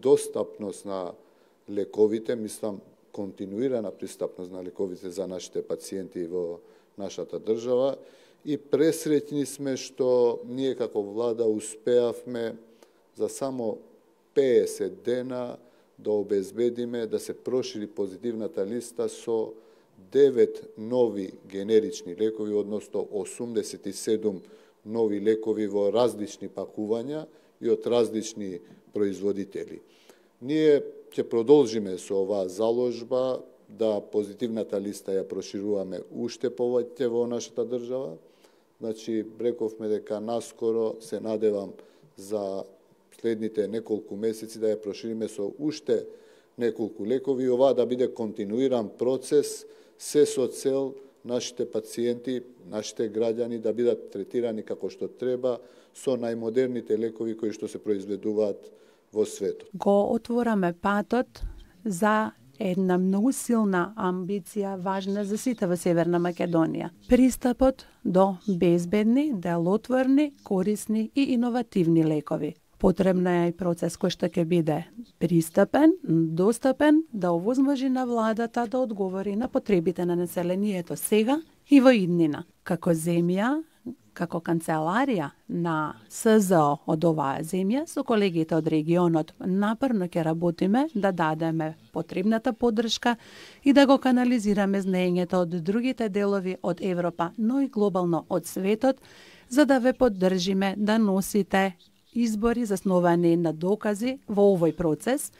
Достапност на лековите, мислам, континуирана пристапност на лековите за нашите пациенти во нашата држава и пресреќни сме што ние како влада успеавме за само 50 дена да обезбедиме да се прошири позитивната листа со 9 нови генерични лекови, односно 87 нови лекови во различни пакувања и од различни производители. Ние ќе продолжиме со оваа заложба да позитивната листа ја прошируваме уште повеќе во нашата држава. Значи, рековме дека наскоро се надевам за следните неколку месеци да ја прошириме со уште неколку лекови и оваа да биде континуиран процес, се со цел нашите пациенти, нашите граѓани да бидат третирани како што треба со најмодерните лекови кои што се произведуваат во светот. Го отвораме патот за една многу силна амбиција, важна за сите во Северна Македонија. Пристапот до безбедни, делотворни, корисни и иновативни лекови. Потребна е и процес кој што ќе биде пристапен, достапен, да овозможи на владата да одговори на потребите на населението сега и во иднина. Како земја, како канцеларија на СЗО од оваа земја, со колегите од регионот напорно ќе работиме да дадеме потребната поддршка и да го канализираме знаењето од другите делови од Европа, но и глобално од светот, за да ве поддржиме да носите избори засновани на докази во овој процес,